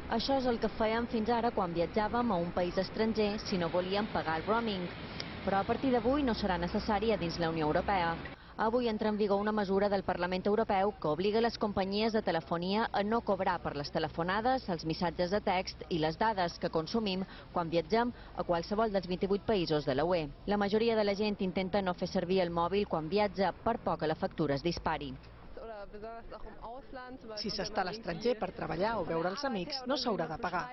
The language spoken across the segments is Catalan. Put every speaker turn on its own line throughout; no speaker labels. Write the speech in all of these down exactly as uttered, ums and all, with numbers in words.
Això és el que fèiem fins ara quan viatjàvem a un país estranger si no volíem pagar el roaming. Però a partir d'avui no serà necessari a dins la Unió Europea. Avui entra en vigor una mesura del Parlament Europeu que obliga les companyies de telefonia a no cobrar per les telefonades, els missatges de text i les dades que consumim quan viatgem a qualsevol dels vint-i-vuit països de la U E. La majoria de la gent intenta no fer servir el mòbil quan viatja, per por que la factura es dispari.
Si s'està a l'estranger per treballar o veure els amics, no s'haurà de pagar.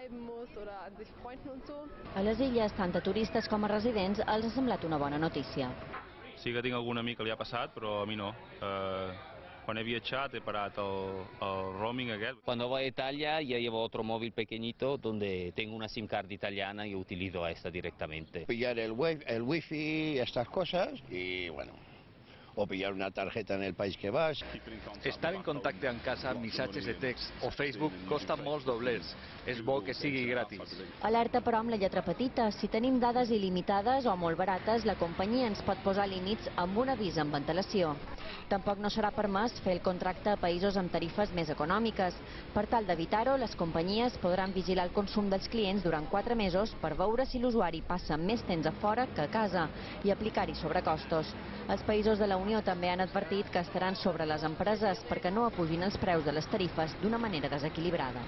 A les illes, tant a turistes com a residents, els ha semblat una bona notícia.
Sí que tinc algun amic que li ha passat, però a mi no. Eh, quan he viatjat he parat el, el roaming aquest.
Cuando voy a Italia ya llevo otro móvil pequeñito donde tengo una SIM card italiana y utilizo esta directamente.
Pillar el, wi el wifi, estas cosas y bueno, o pillar una tarjeta en el país que vas.
Estar en contacte amb casa amb missatges de text o Facebook costa molts doblers. És bo que sigui gratis.
Alerta però amb la lletra petita. Si tenim dades il·limitades o molt barates, la companyia ens pot posar límits amb un avís amb antelació. Tampoc no serà permès fer el contracte a països amb tarifes més econòmiques. Per tal d'evitar-ho, les companyies podran vigilar el consum dels clients durant quatre mesos per veure si l'usuari passa més temps a fora que a casa i aplicar-hi sobrecostos. Els països de la Unió també han advertit que estaran sobre les empreses perquè no apugin els preus de les tarifes d'una manera desequilibrada.